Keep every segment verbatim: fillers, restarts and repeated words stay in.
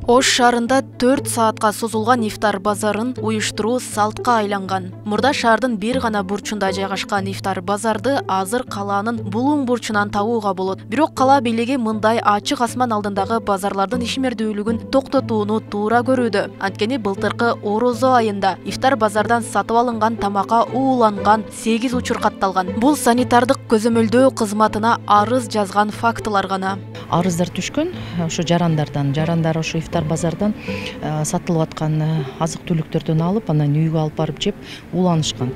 Ош шаарында төрт саатка созулган ифтар базарын уюштуруу салтка айланган. Мурда шаардын бир гана бурчунда жайгашкан ифтар базарды азыр калаанын булуң бурчунан табууга болот. Бирок кала бийлиги мындай ачык асман алдындагы базарлардын ишмердүүлүгүн токтотууну туура көрүүдө. Анткени былтыркы Орозо айында ифтар базардан сатып алынган тамакка ууланган сегиз учур катталган. Бул санитардык көзөмөлдөө кызматына арыз жазган фактылар гана. Арыздар түшкөн ошо жарандардан, жарандар ошо ифтар базардан сатылып аткан азык-түлүктөрдөн алып, анан үйгө алып барып жеп ууланышкан.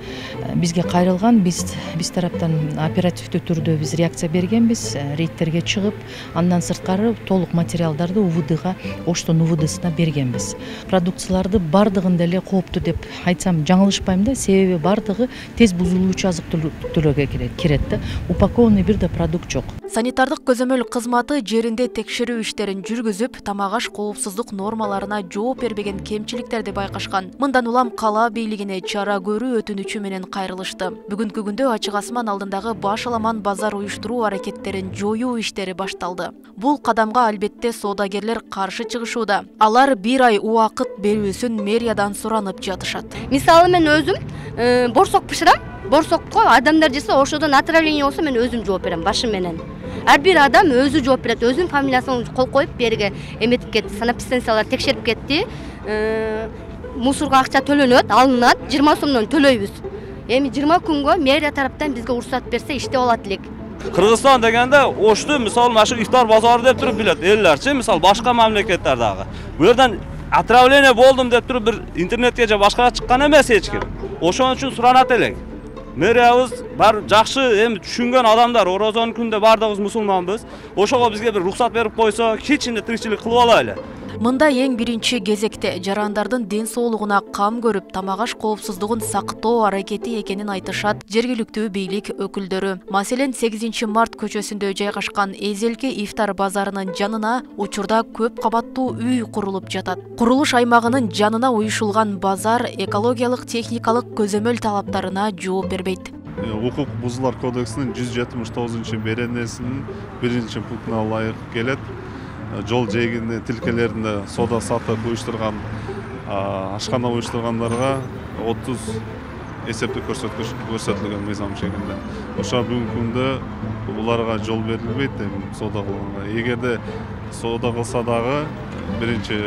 Бизге кайрылган, биз биз тараптан оперативдүү түрдө биз реакция бергенбиз, рейдтерге чыгып, андан сырткары толук материалдарды УВДга, Оштун УВДсына бергенбиз. Продукцияларды бардыгын деле кооптуу деп айтсам жаңылышпайм да, себеби бардыгы тез бузулуучу азык-түлүккө кирет да. Упакованный бир да продукт жок. Санитардык көзөмөл кызматы жеринде текшерүү иштерин жүргүзүп, тамак-аш коопсуздук нормаларына жооп бербеген кемчиликтерди байкашкан. Мындан улам кала бийлигине чара көрүү өтүнүчү менен кайрылышты. Бүгүнкү күндө ачык асман алдындагы баш аламан базар уюштуруу аракеттерин жоюу иштери башталды. Бул кадамга албетте соодагерлер каршы чыгышууда. Алар бир ай убакыт берүүсүн мэриядан суранып жатышат. Мисалы мен өзүм борсок бышырам. Борсокко адамдар жесе ошодон отравление болсо мен өзүм жооп берем башым менен. Ар бир адам өзү жооп берет, өзүнүн фамилиясын кол коюп берге эметип кетти, санэпидстанциялар текшерип кетти. Мусорго акча төлөнөт, алынат, жыйырма сомдон төлөйбүз. Эми жыйырма күнгө мэрия тараптан бизге уруксат берсе иштеп алат элек. Кыргызстан дегенде Ошту мисалы машы ифтар базары деп туруп билет эллерчи, мисалы башка мамлекеттер дагы. Бу жерден отравление болдум деп туруп бир интернетке же башкага чыккан эмес эч ким. Ошон үчүн суранат элек. Мэриябыз бар жакшы эми түшүнгөн адамдар, Орозонун күндө бардыгыбыз мусулманбыз. Ошого бизге бир уруксат берип койсо, кичине тиричилик кылып алайлы. Мында эң биринчи кезекте жарандардын ден соолугуна кам көрүп, тамак-аш коопсуздугун сактоо аракети экенин айтышат жергиликтүү бийлик өкүлдөрү. Маселен, сегизинчи март көчөсүндө жайгашкан Эзелки ифтар базарынын жанына учурда көп кабаттуу үй курулуп жатат. Курулуш аймагынын жанына уюшулган базар экологиялык техникалык көзөмөл талаптарына жооп бербейт. Укук бузуулар кодексинин жүз жетимиш тогузунчу беренесинин биринчи пунктуна ылайык келет. Жол жээгинде тилкелеринде соода сатып уюштурган, ашкана уюштургандарга отуз эсептик көрсөткүч көрсөтүлгөн мыйзам чегинде. Ошо бүгүнкү күндө буларга жол берилбейт эми соода кылганга. Эгерде соода кылса дагы биринчи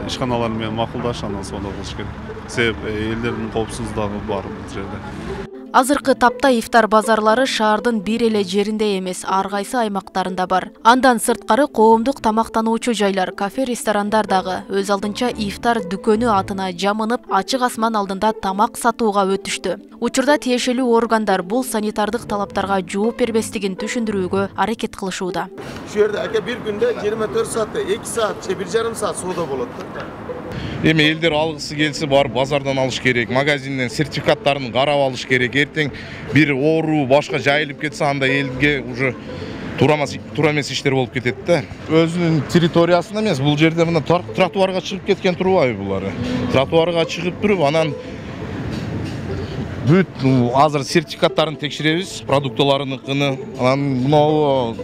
ишканалар менен макулдашып анан соода кылыш керек. Себеби элдердин коопсуздугу бар бул жерде. Азыркы тапта ифтар базарлары шаардын бир эле жеринде эмес, ар кайсы аймактарында бар. Андан сырткары коомдук тамактануучу жайлар, кафе, ресторандар дагы өз алдынча ифтар дүкөнү атына жамынып, ачык асман алдында тамак сатууга өтүштү. Учурда тиешелүү органдар бул санитардык талаптарга жооп бербестигин түшүндүрүүгө аракет кылышууда. Ушул жерде ака бир күндө жыйырма төрт саатта эки саат же бир жарым саат соода болот да. Эми элдер алгысы келсе барып базардан алыш керек, магазинден сертификаттарын карап алыш керек. Эртең бир оору башка жайылып кетсе, анда элге уже туура эмес иштер болуп кетет да. Өзүнүн территориясында эмес, бул жерде мына тротуарга чыгып кеткен турбайбы булар? Тротуарга чыгып туруп, анан бүт азыр сертификаттарын текшеребиз, продуктыларыныкыны, анан мына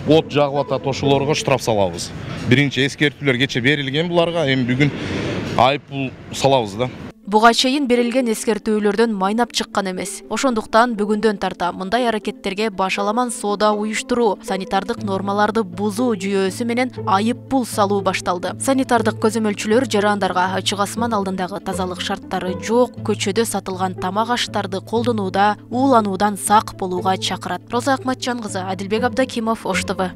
от жагып атат, ошолорго штраф салабыз. Биринчи эскертүүлөр кече берилген буларга, эми бүгүн айыппул салабыз да. Буга чейин берилген эскертүүлөрдөн майнап чыккан эмес. Ошондуктан бүгүндөн тарта мындай аракеттерге баш аламан соода уюштуруу, санитардык нормаларды бузуу жүйөсү менен айыппул салуу башталды. Санитардык көзөмөлчүлөр жарандарга ачык асман алдындагы тазалык шарттары жок, көчөдө сатылган тамак-аштарды колдонууда уулануудан сак болууга чакырат. Роза Акматжан кызы, Адилбек Абдакимов, Ош Т В.